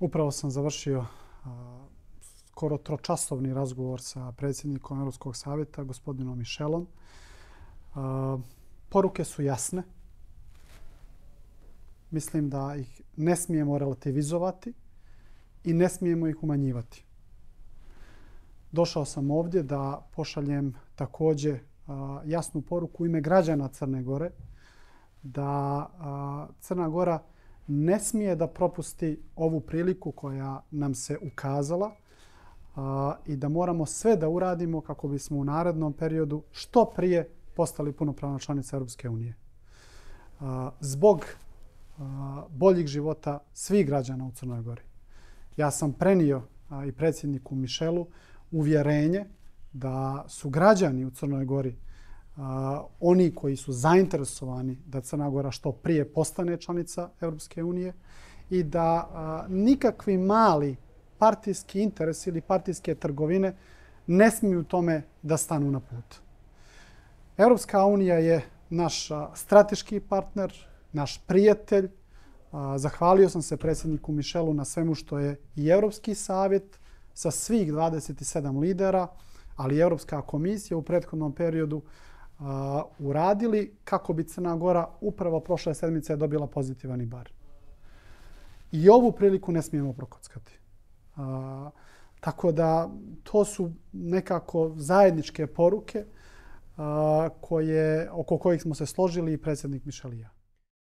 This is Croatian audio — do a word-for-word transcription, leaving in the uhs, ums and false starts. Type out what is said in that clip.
Upravo sam završio a, skoro tročasovni razgovor sa predsjednikom Europskog savjeta, gospodinom Michelom. A, poruke su jasne. Mislim da ih ne smijemo relativizovati i ne smijemo ih umanjivati. Došao sam ovdje da pošaljem također a, jasnu poruku u ime građana Crne Gore da a, Crna Gora ne smije da propusti ovu priliku koja nam se ukazala a, i da moramo sve da uradimo kako bismo u narednom periodu što prije postali punopravna članica Europske unije. A, zbog a, boljih života svih građana u Crnoj Gori. Ja sam prenio a, i predsjedniku Michelu uvjerenje da su građani u Crnoj Gori Uh, oni koji su zainteresovani da Crna Gora što prije postane članica Europske unije i da uh, nikakvi mali partijski interes ili partijske trgovine ne smiju tome da stanu na put. Europska unija je naš uh, strateški partner, naš prijatelj. Uh, zahvalio sam se predsjedniku Michelu na svemu što je i Europski savjet sa svih dvadeset sedam lidera, ali i Europska komisija u prethodnom periodu Uh, uradili kako bi Crna Gora upravo prošle sedmice dobila pozitivan ibar. I ovu priliku ne smijemo prokockati. Uh, tako da to su nekako zajedničke poruke uh, koje, oko kojih smo se složili i predsjednik Michel i ja.